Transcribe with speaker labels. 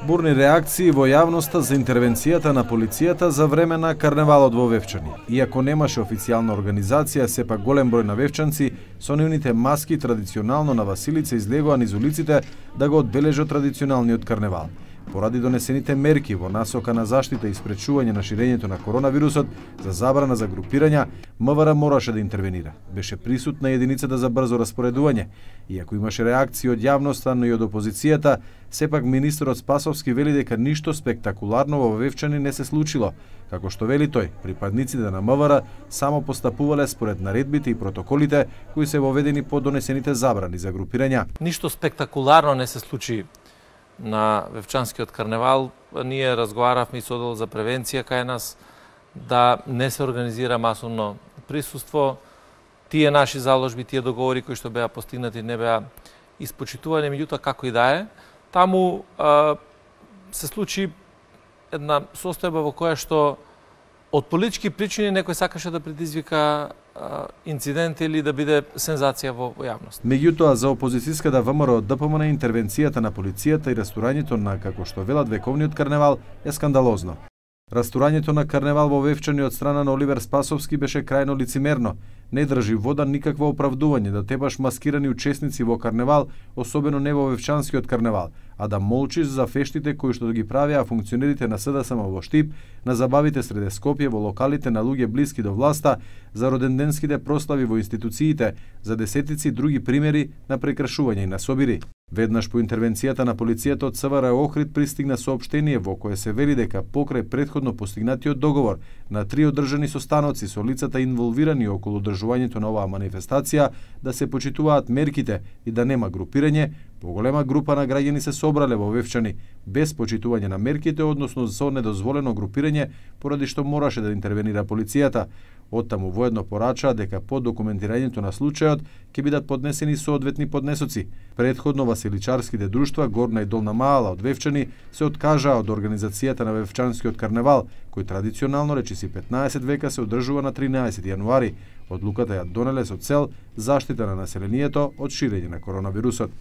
Speaker 1: Бурни реакции во јавноста за интервенцијата на полицијата за време на карневалот во Вевчани. Иако немаше официјална организација, сепак голем број навевчанци со нивните маски традиционално на Василица излегоа низ улиците да го одбележат традиционалниот карневал. Поради донесените мерки во насока на заштита и спречување на ширењето на коронавирусот за забрана за групирања, МВР мораше да интервенира. Беше присутна единицата за брзо распоредување. Иако имаше реакции од јавноста, но и од опозицијата, сепак министерот Спасовски вели дека ништо спектакуларно во Вевчани не се случило. Како што вели тој, припадниците на МВР само постапувале според наредбите и протоколите кои се воведени по донесените забрани за групирања.
Speaker 2: Ништо спектакуларно не се случи на Вевчанскиот карневал. Ние разговаравме и со оддел за превенција кај нас да не се организира масовно присуство. Тие наши заложби, тие договори кои што беа постигнати не беа испочитувани, меѓутоа како и да е, таму се случи една состојба во која што од политички причини некој сакаше да предизвика инцидент или да биде сензација во јавност.
Speaker 1: Меѓутоа, за опозицијската ВМРО ДПМН интервенцијата на полицијата и растурањето на, како што велат, вековниот карневал е скандалозно. Растурањето на карневал во Вевчани од страна на Оливер Спасовски беше крајно лицемерно. Не држи вода никакво оправдување да тебаш маскирани учесници во карневал, особено не во Вевчанскиот карневал, а да молчиш за фештите кои што ги правеа функционерите на СДСМ во Штип, на забавите среде Скопје, во локалите на луѓе блиски до власта, за роденденските прослави во институциите, за десетици други примери на прекршување и на собири. Веднаш по интервенцијата на полицијата од СВР Охрид пристигна соопштение во кое се вели дека покрај претходно постигнатиот договор на 3 одржани состаноци со лицата инволвирани околу одржувањето на оваа манифестација да се почитуваат мерките и да нема групирање, поголема група на граѓани се собрале во Вевчани без почитување на мерките, односно со недозволено групирање, поради што мораше да интервенира полицијата. Оттаму воедно порачаа дека по документирањето на случајот ќе бидат поднесени соодветни поднесоци. Претходно василичарските друштва Горна и Долна Маала од Вевчани се откажаа од организацијата на Вевчанскиот карневал, кој традиционално речиси 15 века се одржува на 13 јануари. Одлуката ја донеле со цел заштита на населението од ширење на коронавирусот.